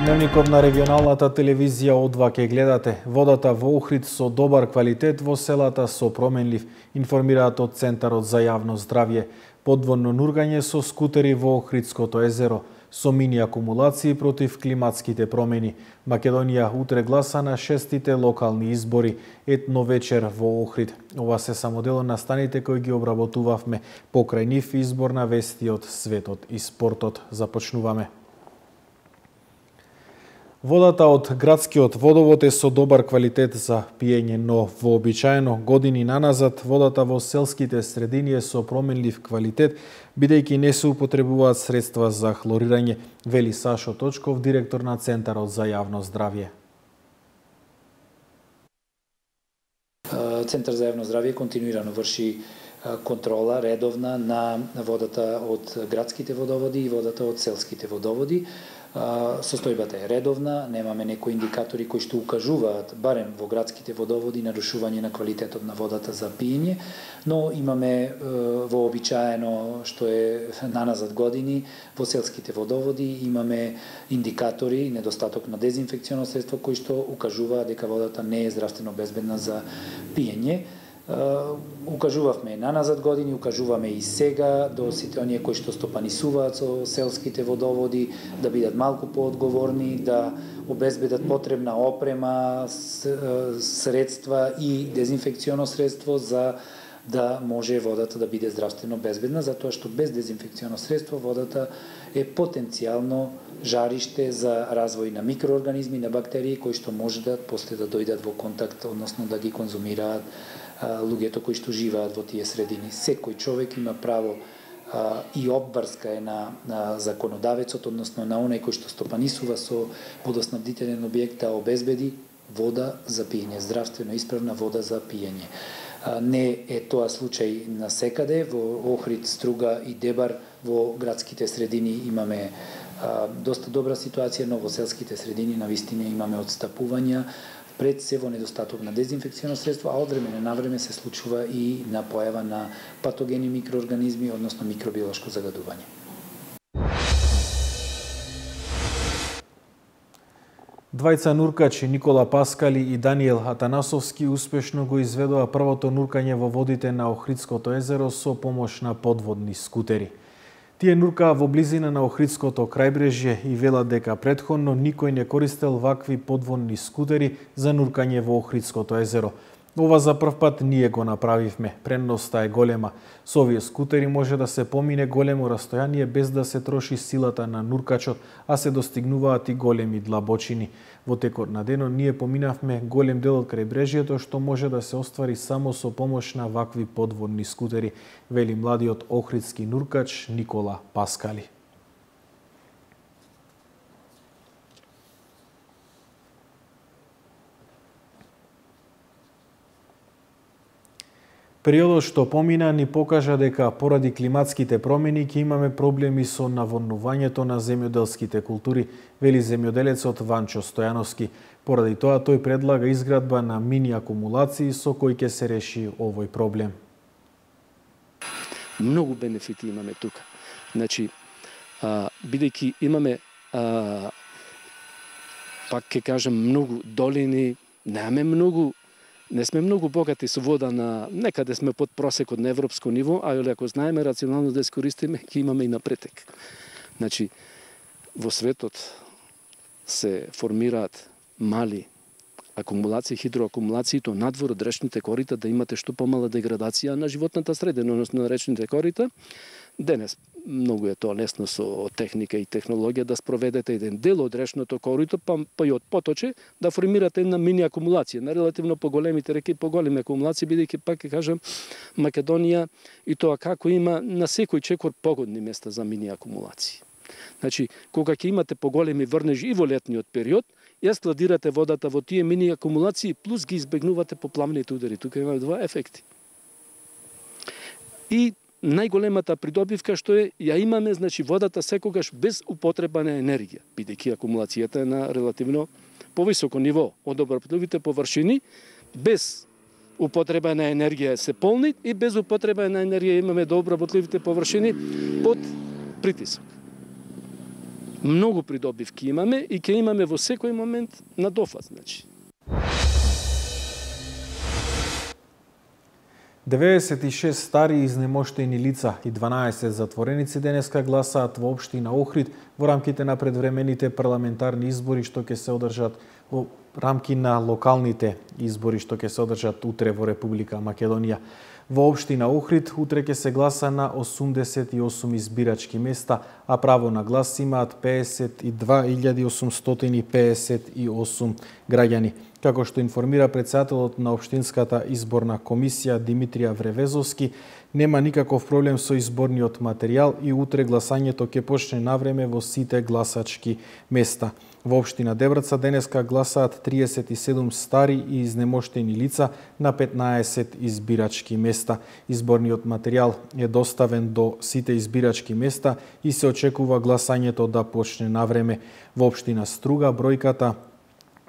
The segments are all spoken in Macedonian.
Дневникот на регионалната телевизија О2 ке гледате. Водата во Охрид со добар квалитет, во селата со променлив, информираат од Центарот за јавно здравје. Подводно нургање со скутери во Охридското езеро, со мини акумулации против климатските промени. Македонија утре гласа на 6-тите локални избори. Етно вечер во Охрид. Ова се само дел на станите кои ги обработувавме. Покрај нив изборна вести од светот и спортот. Започнуваме. Водата од градскиот водовод е со добар квалитет за пиење, но вообичаено години наназад водата во селските средини е со променлив квалитет, бидејќи не се употребуваат средства за хлорирање, вели Сашо Точков, директор на Центарот за јавно здравје. Центар за јавно здравје континуирано врши контрола редовна на водата од градските водоводи и водата од селските водоводи. Состојбата е редовна, немаме некои индикатори кои што укажуваат, барем во градските водоводи, нарушување на квалитетот на водата за пиење, но имаме вообичаено, што е наназад години, во селските водоводи имаме индикатори, недостаток на дезинфекционо средство кои што укажуваат дека водата не е здравствено безбедна за пиење. Укажувавме наназад години, укажуваме и сега до сите оние кои што стопанисуваат со селските водоводи да бидат малку поодговорни, да обезбедат потребна опрема, средства и дезинфекционо средство за да може водата да биде здравствено безбедна, затоа што без дезинфекционо средство водата е потенцијално жариште за развој на микроорганизми, на бактерии кои што може да после да дојдат во контакт, односно да ги конзумираат луѓето кои што живеат во тие средини. Секој човек има право и обврска е на законодавецот, односно на оној кој што стопанисува со водоснабдителен објект да обезбеди вода за пиење, здравствено исправна вода за пиење. Не е тоа случај на секаде, во Охрид, Струга и Дебар во градските средини имаме доста добра ситуација, но во селските средини навистина имаме отстапувања, пред се во недостаток на дезинфекционо средство, а од време на време се случува и на појава на патогени микроорганизми, односно микробиолошко загадување. Двајца нуркачи Никола Паскали и Даниел Атанасовски успешно го изведоа првото нуркање во водите на Охридското езеро со помош на подводни скутери. Тие нуркаа во близина на Охридското крајбрежје и велат дека претходно никој не користел вакви подводни скутери за нуркање во Охридското езеро. Ова за прв пат ние го направивме. Пренноста е голема. Со овие скутери може да се помине големо растојание без да се троши силата на нуркачот, а се достигнуваат и големи длабочини. Во текот на денот ние поминавме голем дел од крајбрежјето што може да се оствари само со помош на вакви подводни скутери, вели младиот охридски нуркач Никола Паскали. Периодот што помина ни покажа дека поради климатските промени ќе имаме проблеми со наводнувањето на земјоделските култури, вели земјоделецот Ванчо Стојановски. Поради тоа тој предлага изградба на мини акумулации со кои ќе се реши овој проблем. Многу бенефити имаме тука. Значи, бидејќи имаме пак ќе кажам многу долини, не сме многу богати со вода, на некаде сме под просекот на европско ниво, а ако знаеме рационално да искористиме, ќе имаме и напретек. Значи, во светот се формираат мали акумулации, хидроакумулации, то надвор од речните корита да имате што помала деградација на животната средина, односно на речните корита. Денес многу е тоа лесно со техника и технологија да спроведете еден дел од речното корито, па и од поточе да формирате една мини акумулација на релативно поголемите реки, поголеми акумулации, бидејќи пак ќе кажам Македонија и тоа како има на секој чекор погодни места за мини акумулации. Значи, кога ќе имате поголеми врнежи и во летниот период, ја складирате водата во тие мини акумулации плюс ги избегнувате поплавните удари. Тука има два ефекти. И најголемата придобивка што е, ја имаме, значи, водата секогаш без употреба на енергија, бидејќи акумулацијата е на релативно повисоко ниво од обработливите површини, без употреба на енергија се полни и без употреба на енергија имаме до обработливите површини под притисок. Многу придобивки имаме и ќе имаме во секој момент на дофат, значи. 96 стари изнемоштени лица и 12 затвореници денеска гласаат во општина Охрид во рамките на предвремените парламентарни избори што ќе се одржат во рамки на локалните избори што ќе се одржат утре во Република Македонија. Во општина Охрид утре ќе се гласа на 88 избирачки места, а право на глас имаат 52.858 граѓани. Како што информира претседателот на Општинската изборна комисија Димитрија Вревезовски, нема никаков проблем со изборниот материјал и утре гласањето ќе почне навреме во сите гласачки места. Во општина Дебраца денеска гласаат 37 стари и изнемоштени лица на 15 избирачки места. Изборниот материјал е доставен до сите избирачки места и се очекува гласањето да почне навреме. Во општина Струга бројката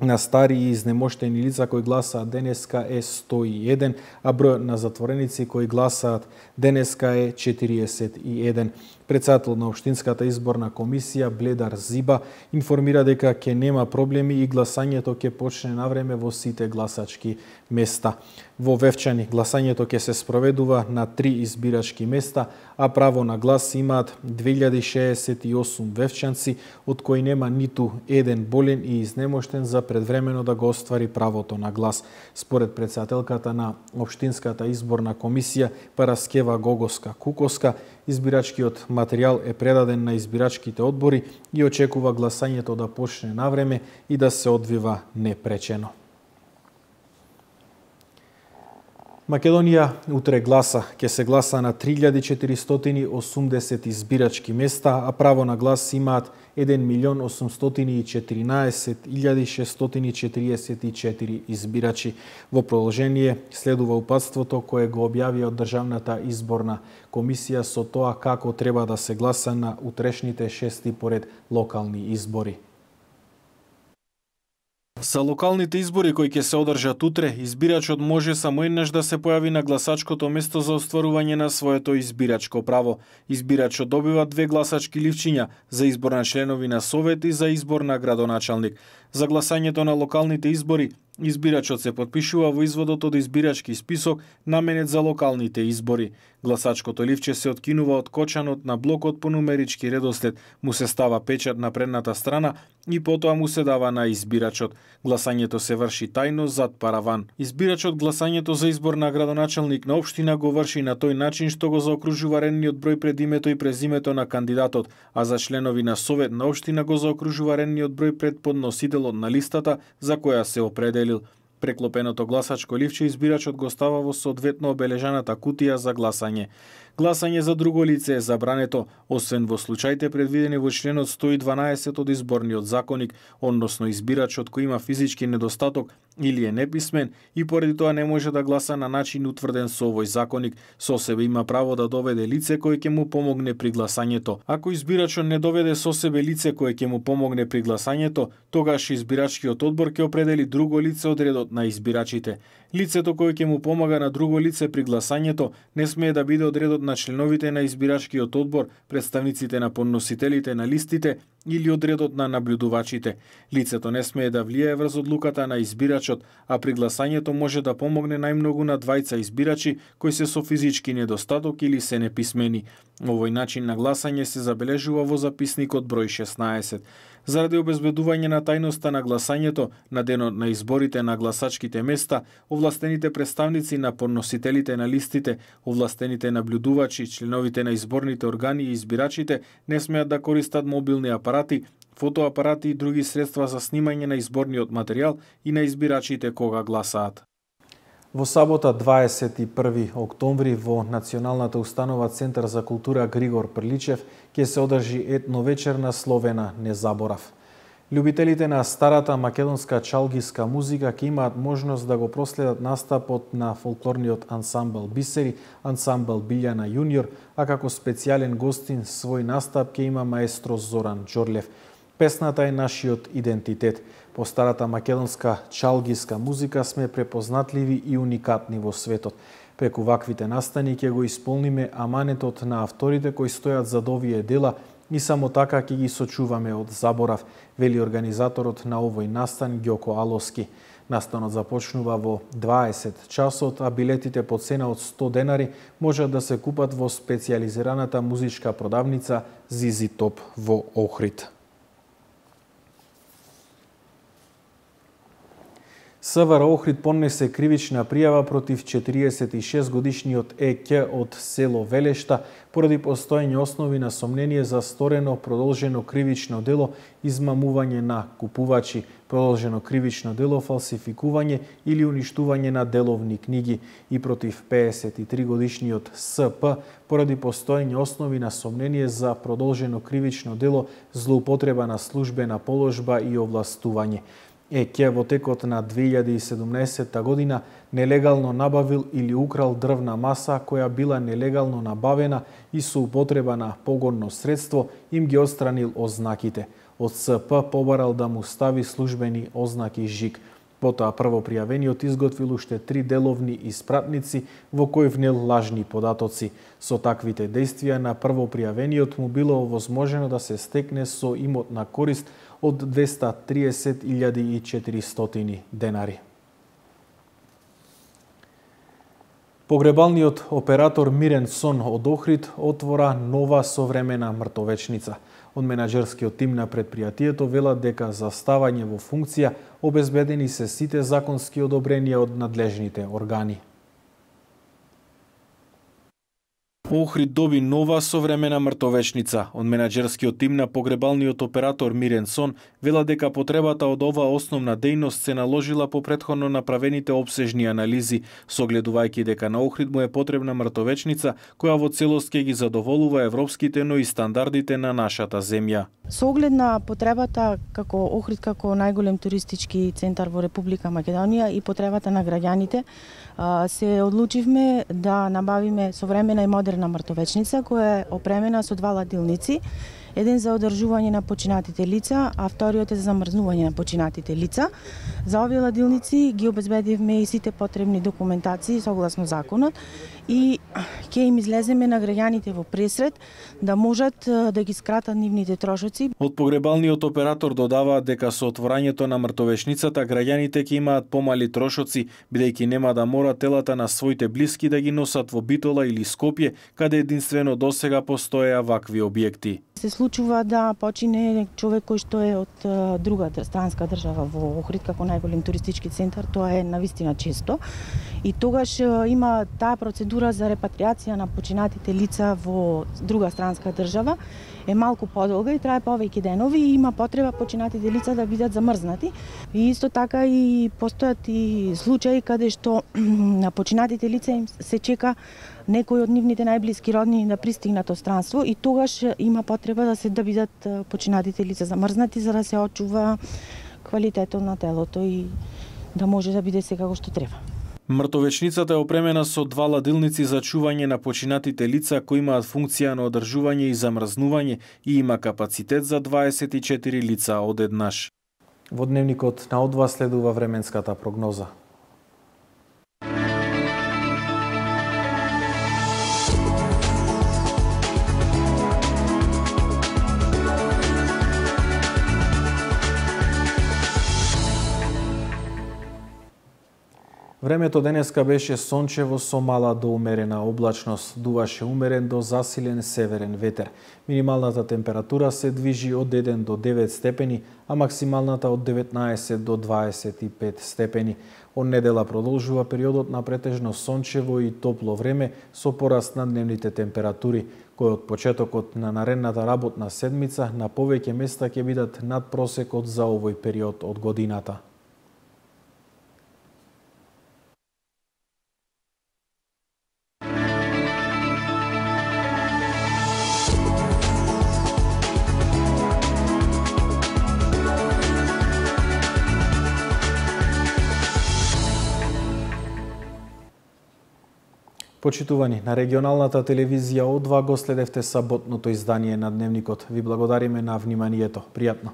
на стари и изнемоштени лица кои гласаат денеска е 101, а бројот на затвореници кои гласаат денеска е 41. Претседател на Општинската изборна комисија Бледар Зиба информира дека ќе нема проблеми и гласањето ќе почне навреме во сите гласачки места. Во Вевчани гласањето ќе се спроведува на 3 избирачки места, а право на глас имаат 2068 вевчанци, од кои нема ниту еден болен и изнемоштен за предвремено да го оствари правото на глас. Според претседателката на Општинската изборна комисија Параскева Гогоска Кукоска, избирачкиот материјал е предаден на избирачките одбори и очекува гласањето да почне навреме и да се одвива непречено. Македонија утре гласа. Ќе се гласа на 3480 избирачки места, а право на глас имаат 1.814.644 избирачи. Во продолжение следува упатството кое го објавија од Државната изборна комисија со тоа како треба да се гласа на утрешните 6 поред локални избори. За локалните избори кои ќе се одржат утре, избирачот може само еднаш да се појави на гласачкото место за остварување на своето избирачко право. Избирачот добива 2 гласачки ливчиња за избор на членови на совет и за избор на градоначалник. За гласањето на локалните избори, избирачот се потпишува во изводот од избирачки список наменет за локалните избори. Гласачкото ливче се откинува од кочанот на блокот по нумерички редослед, му се става печат на предната страна и потоа му се дава на избирачот. Гласањето се врши тајно зад параван. Избирачот гласањето за избор на градоначалник на општина го врши на тој начин што го заокружува ренниот број пред името и презимето на кандидатот, а за членови на совет на општина го заокружува ренниот број пред подносителот на листата за која се определил. Преклопеното гласачко ливче избирачот го става во соодветно обележаната кутија за гласање. Гласање за друго лице е забрането, освен во случаите предвидени во членот 112 од изборниот законник, односно избирачот кој има физички недостаток или е неписмен и поради тоа не може да гласа на начин утврден со овој законник, со себе има право да доведе лице кое ќе му помогне при гласањето. Ако избирачот не доведе со себе лице кое ќе му помогне при гласањето, тогаш избирачкиот одбор ќе определи друго лице од редот на избирачите. Лицето кое ќе му помага на друго лице при гласањето не смее да биде од редот на членовите на избирачкиот одбор, представниците на подносителите на листите или од редот на наблюдувачите. Лицето не смее да влијае врз одлуката на избирачот, а при гласањето може да помогне најмногу на 2 избирачи кои се со физички недостаток или се неписмени. Овој начин на гласање се забележува во записникот број 16. Заради обезбедување на тајноста на гласањето на денот на изборите на гласачките места, овластените представници на подносителите на листите, овластените наблюдувачи, членовите на изборните органи и избирачите не смеат да користат мобилни апарати, фотоапарати и други средства за снимање на изборниот материјал и на избирачите кога гласаат. Во сабота 21 октомври во Националната установа Центар за култура Григор Прличев ќе се одржи етновечер насловена Незаборав. Љубителите на старата македонска чалгиска музика ќе имаат можност да го проследат настапот на фолклорниот ансамбл Бисери, ансамбл Билјана Јуниор, а како специјален гостин свој настап ќе има маестро Зоран Џорлев. Песната е нашиот идентитет. По старата македонска чалгиска музика сме препознатливи и уникатни во светот. Преку ваквите настани ќе го исполниме аманетот на авторите кои стојат зад овие дела и само така ќе ги сочуваме од заборав, вели организаторот на овој настан Ѓоко Алоски. Настанот започнува во 20 часот, а билетите по цена од 100 денари можат да се купат во специјализираната музичка продавница Зизи Топ во Охрид. СВР Охрид поднесе кривична пријава против 46-годишниот ЕК од село Велешта поради постоење основи на сомнение за сторено продолжено кривично дело измамување на купувачи, продолжено кривично дело фалсификување или уништување на деловни книги и против 53-годишниот СП поради постоење основи на сомнение за продолжено кривично дело злоупотреба на службена положба и овластување. ЕК во текот на 2017 година нелегално набавил или украл дрвна маса која била нелегално набавена и со употреба на погонно средство им ги отстранил ознаките. Од СП побарал да му стави службени ознаки ЖИК. Потоа првопријавениот изготвил уште 3 деловни испратници во кои внел лажни податоци. Со таквите действија на првопријавениот му било овозможено да се стекне со имотна корист од 230.400 денари. Погребалниот оператор Мирен Сон од Охрид отвора нова современа мртовечница. Од менаџерскиот тим на предпријатието велат дека за ставање во функција обезбедени се сите законски одобренија од надлежните органи. Охрид доби нова современа мртовечница. Од менаџерскиот тим на погребалниот оператор Мирен Сон вела дека потребата од оваа основна дејност се наложила по претходно направените опсежни анализи, согледувајќи дека на Охрид му е потребна мртовечница која во целост ќе ги задоволува европските, но и стандардите на нашата земја. Со оглед на потребата како Охрид како најголем туристички центар во Република Македонија и потребата на граѓаните, се одлучивме да набавиме современа и модерна мртовечница која е опремена со 2 ладилници, еден за одржување на починатите лица, а вториот е за замрзнување на починатите лица. За овие ладилници ги обезбедивме и сите потребни документации согласно законот и ќе им излеземе на граѓаните во пресред да можат да ги скратат нивните трошоци. Од погребалниот оператор додава дека со отворањето на мртовечницата граѓаните ќе имаат помали трошоци, бидејќи нема да мора телата на своите блиски да ги носат во Битола или Скопје, каде единствено досега постоеа вакви објекти. Се случува да почине човек кој што е од друга странска држава во Охрид како најголем туристички центар, тоа е навистина често. И тогаш има таа процедура за репатриација на починатите лица во друга странска држава е малку подолга и трае повеќе денови и има потреба починатите лица да бидат замрзнати. И исто така и постојат и случаи каде што на починатите лица им се чека некој од нивните најблиски роднини да пристигнат од странство и тогаш има потреба да бидат починатите лица замрзнати за да се очува квалитетот на телото и да може да биде се како што треба. Мртовечницата е опремена со 2 ладилници за чување на починатите лица кои имаат функција на одржување и замрзнување и има капацитет за 24 лица одеднаш. Во дневникот на Од вас следува временската прогноза. Времето денеска беше сончево со мала до умерена облачност, дуваше умерен до засилен северен ветер. Минималната температура се движи од 1 до 9 степени, а максималната од 19 до 25 степени. Од недела продолжува периодот на претежно сончево и топло време со пораст на дневните температури, кои од почетокот на наредната работна седмица на повеќе места ќе бидат над просекот за овој период од годината. Почитувани, на регионалната телевизија Од2 го следевте саботното издание на Дневникот. Ви благодариме на вниманието. Пријатно.